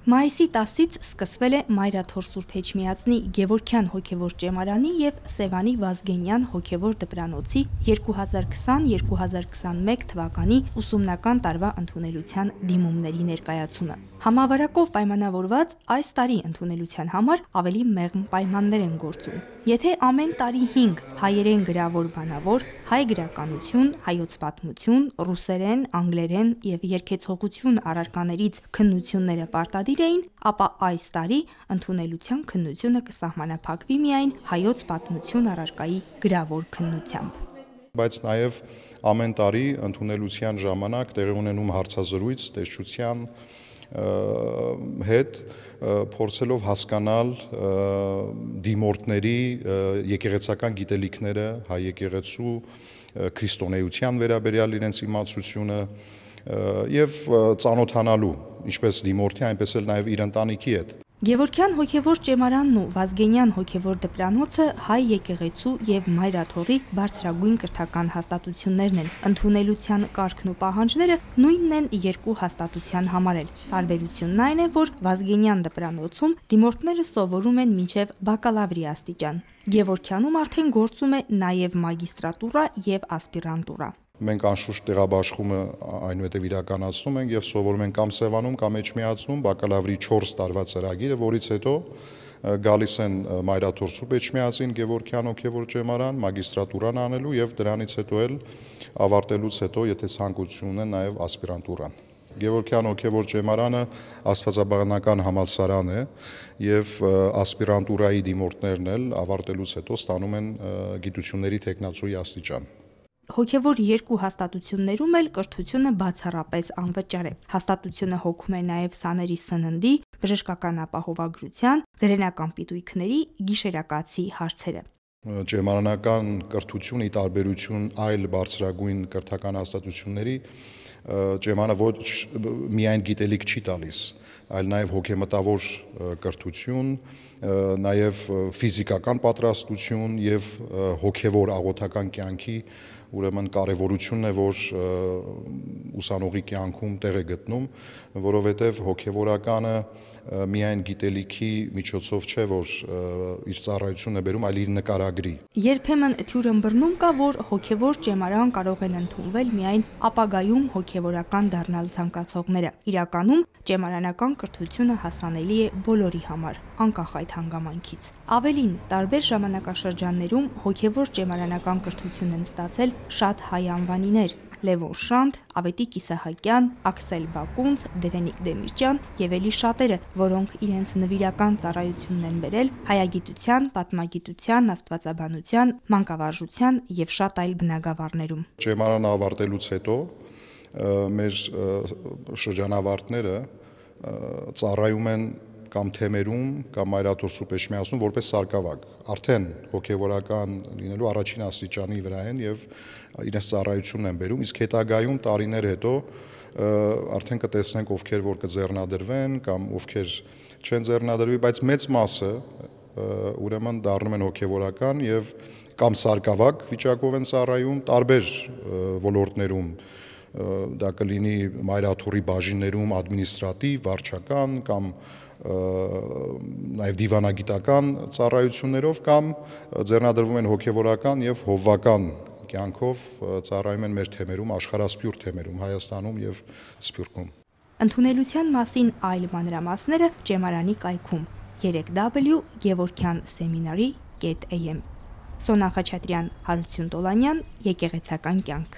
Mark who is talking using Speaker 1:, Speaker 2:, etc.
Speaker 1: Մայիսի 10-ից սկսվել է Մայրաթոր Սուրբ Էջմիածնի Գևորգյան հոգևոր ճեմարանի և Սևանի Վազգենյան հոգևոր դպրանոցի 2020-2021 թվականի ուսումնական տարվա ընդունելության դիմումների ներկայացումը։ Համավարակով պայմանավորված այս տարի ընդունելության համար ավելի մեղմ պայմաններ են գործում։ Եթե ամեն տարի 5 հայերեն գրավոր բանավոր, հայ գրականություն, հայոց պատմություն, ռուսերեն, անգլերեն և երգեցողություն առարկաներից քննությունները պարտադիր էին, ապա այս տարի ընդունելության քննությունը կսահմանափակվի միայն հայոց պատմություն առարկայի գրավոր քննությամբ։
Speaker 2: Բայց նաև ամեն տարի ընդունելության ժամանակ տեղի ունենում հարցազրույց տեսչության հետ, փորձելով հասկանալ դիմորդների եկեղեցական գիտելիքները, հայ եկեղեցու քրիստոնեության վերաբերյալ իրենց իմացությունը և ծանոթանալու ինչպես դիմորդի, այնպես էլ նաև իր ընտանիքի հետ։
Speaker 1: Գևորգյան հոգևոր ճեմարանն ու Վազգենյան հոգևոր դպրանոցը հայ եկեղեցու և Մայրաթորի բարձրագույն կրթական հաստատություններն են։ Ընդունելության կարգն ու պահանջները նույնն են երկու հաստատության համար էլ։ Տարբերությունն այն է, որ Վազգենյան դպրանոցում դիմորդները սովորում են մինչև բակալավրի աստիճան։ Գևորգյանում արդեն գործում է նաև մագիստրատուրա և ասպիրանտուրա։
Speaker 2: Մենք անշուշտ տեղաբաշխումը այնուհետև իրականացնում ենք և սովորում ենք կամ Սևանում, կամ Էջմիածնում բակալավրի 4 տարվա ծրագիրը, որից հետո գալիս են Մայրաթոր Սուրբ Էջմիածին Գևորգյան հոգևոր ճեմարան, մագիստրատուրան անելու և դրանից հետո էլ ավարտելուց հետո, եթե ցանկություն ունեն, նաև ասպիրանտուրան։ Գևորգյան հոգևոր ճեմարանը աստվածաբանական համալսարան է և ասպիրանտուրայի դիմորդներն էլ ավարտելուց հետո ստանում են գիտությունների թեկնածուի աստիճան։
Speaker 1: Հոգևոր երկու հաստատություններում էլ կրթությունը բացառապես անվճար է։ Հաստատությունը հոգում է նաև սաների սննդի, բժշկական ապահովագրության, գրենական պիտույքների, գիշերակացի հարցերը։
Speaker 2: Ճեմարանական կրթությունը ի տարբերություն այլ բարձրագույն կրթական հաստատությունների ճեմարանը ոչ միայն գիտելիք չի տալիս, այլ նաև հոգեմտավոր կրթություն, նաև ֆիզիկական պատրաստություն և հոգևոր աղոթական կյանքի ուրեմն կարևորությունն է, որ ուսանողի կյանքում տեղ է գտնում, որովհետև հոգևորականը միայն գիտելիքի միջոցով չէ, որ իր ծառայությունն է բերում, այլ իր նկարագրի։
Speaker 1: Երբեմն թյուրըմբռնում կա, որ հոգևոր ճեմարան կարող են ընդունվել միայն ապագայում հոգևորական դառնալ ցանկացողները։ Իրականում ճեմարանական կրթությունը հասանելի է բոլորի համար, անկախ այդ հանգամանքից։ Ավելին, տարբեր ժամանակաշրջաններում հոգևոր ճեմարանական կրթություն են ստացել շատ հայ անվանիներ՝ Լևոն Շանթ, Ավետիք Իսահակյան, Աքսել Բակունց, Դերենիկ Դեմիրճյան և էլի շատերը, որոնք իրենց նվիրական ծառայությունն են բերել հայագիտության, պատմագիտության, աստվածաբանության, մանկավարժության և շատ այլ բնագավառներում։
Speaker 2: Ճեմարանը ավարտելուց հետո մեր շրջանավարտները ծառայում են կամ թեմերում, կամ Մայրաթոր Սուրբ Էջմիածնում որպես սարկավագ, արդեն հոգևորական լինելու առաջին աստիճանի վրա են և իրենց ծառայությունն են բերում, իսկ հետագայում տարիներ հետո արդեն կտեսնենք ովքեր որ կձեռնադրվեն կամ ովքեր չեն ձեռնադրվի, բայց մեծ մասը ուրեմն դառնում են հոգևորական և կամ սարկավագ վիճակով են ծառայում տարբեր ոլորտներում, դա կլինի Մայրաթորի բաժիններում ադմինիստրատիվ, վարչական կամ նաև դիվանագիտական ծառայություններով կամ ձեռնադրվում են հոգևորական և հովվական կյանքով ծառայում են մեր թեմերում, աշխարհասփյուռ թեմերում, Հայաստանում և Սփյուռքում։
Speaker 1: Ընդունելության մասին այլ մանրամասները ճեմարանի կայքում www.gevorkyanseminary.am Սոնա Խաչատրյան, Հարություն Տոլանյան, Եկեղեցական կյանք։